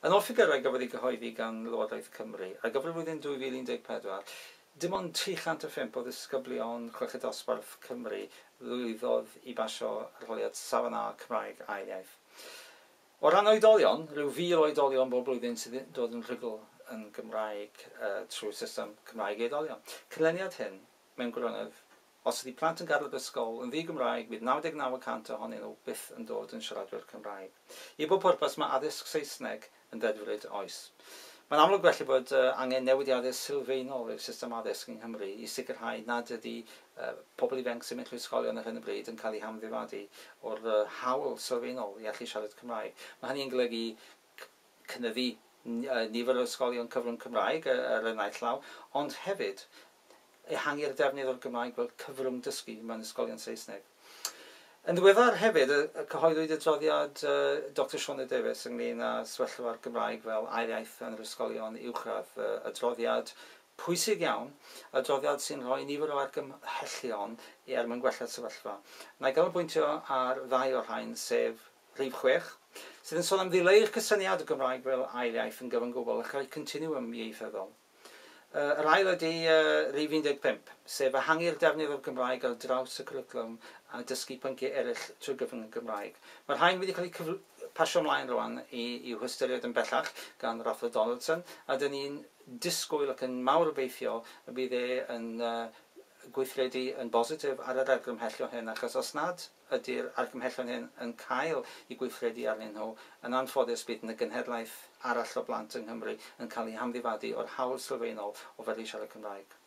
Yn ôl ffigyrau gafodd ei gyhoeddi gan Lywodraeth Cymru, ar gyfer y flwyddyn 2014, dim ond 305 o ddisgyblion chweched dosbarth Cymru lwyddodd i basio arholiad Safon A Cymraeg ail iaith. O ran oedolion, rhyw 1,000 o oedolion bob blwyddyn sydd yn dod yn rhugl yn Gymraeg trwy system Cymraeg i oedolion. Canlyniad hyn, mewn gwirionedd, os ydy plant yn gadael yr ysgol yn ddi-Gymraeg, bydd 99 y cant ohonyn nhw byth yn dod yn siaradwyr Cymraeg. I bob pwrpas, mae addysg Saesneg yn ddedfryd oes. Mae'n amlwg felly bod angen newidiadau sylfaenol i'r system addysg yng Nghymru i sicrhau nad ydy pobl ifanc sy'n mynd trwy ysgolion ar hyn o bryd yn cael eu hamddifadu o'r hawl sylfaenol i allu siarad Cymraeg. Mae hynny'n golygu cynyddu nifer o ysgolion cyfrwng Cymraeg ar y naill law, ond hefyd ehangu'r defnydd o'r Gymraeg fel cyfrwng dysgu mewn ysgolion Saesneg. Yn ddiweddar hefyd, cyhoeddwyd adroddiad Doctor Sioned Davies ynglyn â sefyllfa'r Gymraeg fel ail iaith yn yr ysgolion uwchradd, adroddiad pwysig iawn, adroddiad sy'n rhoi nifer o argymhellion er mwyn gwella'r sefyllfa. Na i ganolbwyntio ar ddau o'r rhain, sef rhif 6, sydd yn sôn am ddileu'r cysyniad o Gymraeg fel ail iaith yn gyfan gwbl a chreu continwwm ieithyddol. Yr ail ydy rhif 15, sef ehangu'r defnydd o'r Gymraeg ar draws y cwricwlwm a dysgu pynciau eraill trwy gyfrwng y Gymraeg. Mae'r rhain wedi cael eu pasio ymlaen rwan i'w hystyried yn bellach gan yr Athro Donaldson, a dyn ni'n disgwyl ac yn mawr obeithio y bydd e yn gweithredu yn bositif ar yr argymhellion hyn, achos os nad ydy'r argymhellion hyn yn cael eu gweithredu arnyn nhw, yn anffodus bydd yna genhedlaeth arall o blant yng Nghymru yn cael eu hamddifadu o'r hawl sylfaenol o fedru siarad Cymraeg.